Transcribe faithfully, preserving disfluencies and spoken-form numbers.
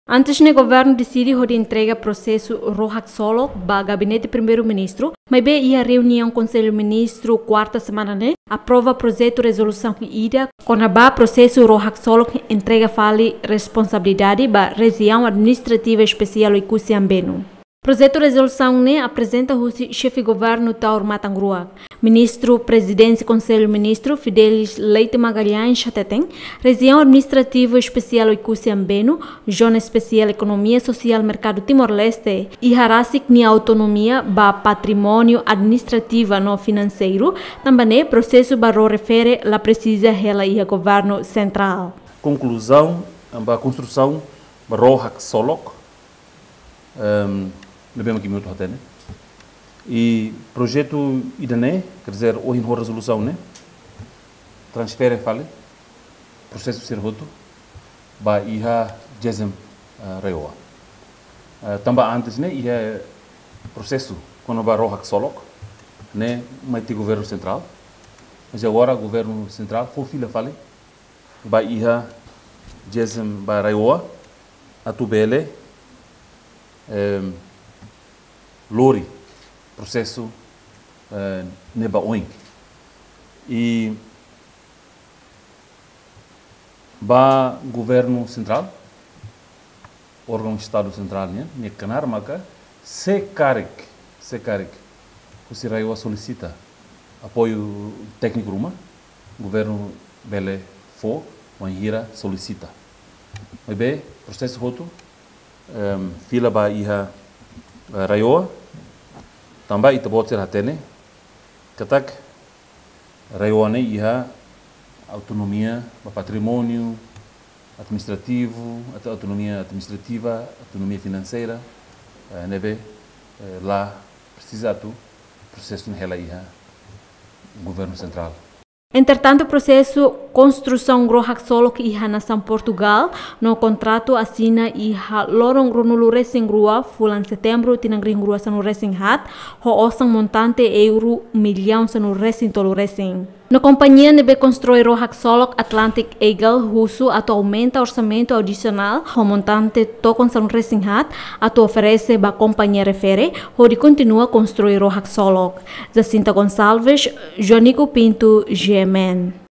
Antes ne'e, governu deside hodi entrega prosesu Ró Haksolok ba Gabinete Primeiru-Ministru, maibé iha reuniaun Konsellu Ministru kuarta semana ne'e aprova projetu rezolusaun ida kona-ba prosesu Ró Haksolok entrega fali responsabilidade ba Rejiaun Administrativa Espesiál Oekusi Ambenu. Projetu rezolusaun ne'e aprezenta husi Xefe Governu Taur Matan Ruak. Ministru Prezidénsia Konsellu Ministru Fidelis Leite Magalhães hateten, Rejiaun Administrativa Espesiál Oekusi Ambenu, Zona Espesiál Ekonomia Sosiál Merkadu Timor-Leste, iha rasik nia autonomia ba patrimóniu administrativa no finanseiru, tanba ne'e prosesu ba Ró refere la presiza hela iha governu sentrál. Konkluzaun ba konstrusaun ba Ró Haksolok, ehm, ne'ebé mak imi hotu hatene. I projetu ida-ne'e, quer dizer, ohin ho rezolusaun ne'e, transfere fali prosesu sira hotu ba iha Jezem, eh, RAEOA. Eh, tanba antes ne'e iha prosesu kona-ba Ró Haksolok ne'e mai to'o governu sentrál. Mas agora governu sentrál fó fila fali ba iha Jezem ba RAEOA atu bele, em, lori prosesu, eh, ne'e ba oin. I ba governu sentrál, órgaun Estadu sentrál nian, nia knaar maka se karik, se karik husi RAEOA solisita apoiu tékniku ruma, governu bele fó wainhira solisita. Maibé prosesu hotu, em, fila ba iha, eh, RAEOA, tanba ita-boot sira hatene katak RAEOA ne'e iha autonomia ba patrimóniu administrativu, atu-, autonomia administrativa, autonomia finanseira, eh, ne'ebé, eh, la presiza atu prosesu ne'e hela iha governu sentrál. Entretantu, prosesu konstrusaun Ró Haksolok iha nasaun Portugál no kontratu asina iha loron ruanulu-resin-rua fulan Setembru tinan rihun rua sanulu-resin-haat, ho osan montante euro millaun sanulu-resin-tolu-resin. No kompañia ne'ebé konstrui Ró Haksolok, Atlantic Eagle, husu atu aumenta orsamentu adisionál ho montante tokon sanulu-resin-haat atu oferese ba kompañia refere hodi kontinua konstrui Ró Haksolok. Jacinta Gonçalves, Joanico Pinto, G M N.